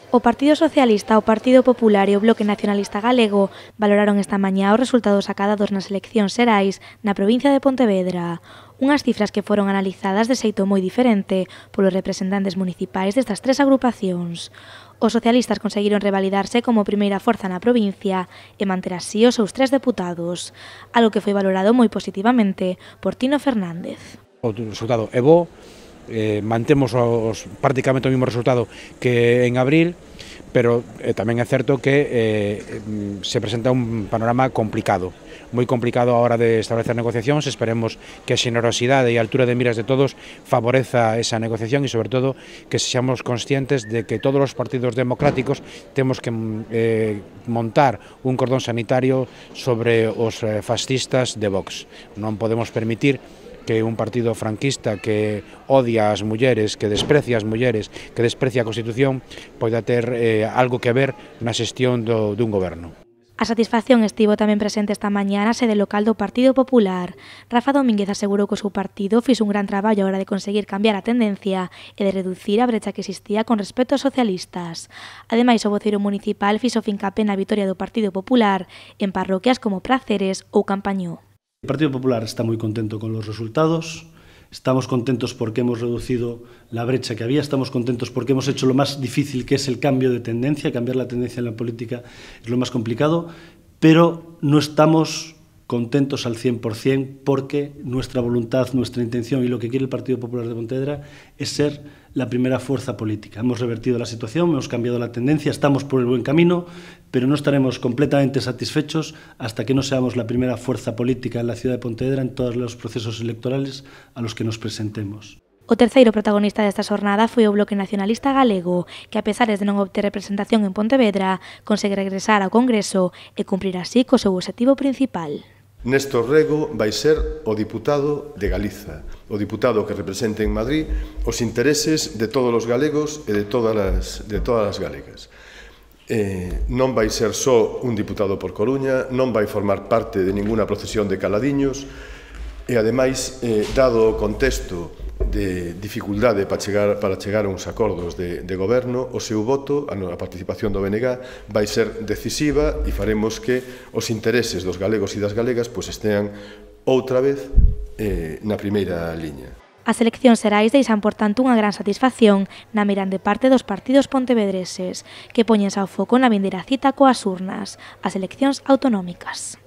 O Partido Socialista, o Partido Popular e o Bloque Nacionalista Galego valoraron esta mañá os resultados acadados nas eleccións xerais na provincia de Pontevedra. Unhas cifras que foron analizadas de xeito moi diferente polos representantes municipais destas tres agrupacións. Os socialistas conseguiron revalidarse como primeira forza na provincia e manter así os seus 3 deputados, algo que foi valorado moi positivamente por Tino Fernández. O resultado é bo, mantemos prácticamente o mesmo resultado que en abril, pero tamén é certo que se presenta un panorama complicado, moi complicado a hora de establecer negociacións. Esperemos que a xenerosidade e a altura de miras de todos favoreza esa negociación e, sobre todo, que sexamos conscientes de que todos os partidos democráticos temos que montar un cordón sanitario sobre os fascistas de Vox. Non podemos permitir que un partido franquista que odia as mulleres, que desprecia as mulleres, que desprecia a Constitución, poida ter algo que ver na xestión dun goberno. A satisfacción estivo tamén presente esta mañá na sede local do Partido Popular. Rafa Domínguez asegurou que o seu partido fixo un gran traballo a hora de conseguir cambiar a tendencia e de reducir a brecha que existía con respecto aos socialistas. Ademais, o voceiro municipal fixo fincapé na vitoria do Partido Popular en parroquias como Praceres ou Campañó. El Partido Popular está muy contento con los resultados, estamos contentos porque hemos reducido la brecha que había, estamos contentos porque hemos hecho lo más difícil, que es el cambio de tendencia. Cambiar la tendencia en la política es lo más complicado, pero no estamos contentos al 100% porque nuestra voluntad, nuestra intención y lo que quiere el Partido Popular de Pontevedra es ser la primera fuerza política. Hemos revertido la situación, hemos cambiado la tendencia, estamos por el buen camino, pero no estaremos completamente satisfechos hasta que no seamos la primera fuerza política en la ciudad de Pontevedra en todos los procesos electorales a los que nos presentemos. O terceiro protagonista desta xornada foi o Bloque Nacionalista Galego, que a pesar de non obter representación en Pontevedra, consegue regresar ao Congreso e cumprir así co seu obxectivo principal. Néstor Rego vai ser o diputado de Galiza, o diputado que represente en Madrid os intereses de todos os galegos e de todas as galegas. Non vai ser só un diputado por Coruña, non vai formar parte de ninguna procesión de caladiños e, ademais, dado o contexto de dificultade para chegar a uns acordos de goberno, o seu voto, a participación do BNG, vai ser decisiva e faremos que os intereses dos galegos e das galegas estean outra vez na primeira liña. As eleccións xerais deixan, por tanto, unha gran satisfacción na mirande parte dos partidos pontevedreses, que poñense ao foco na vindeira cita coas urnas, as eleccións autonómicas.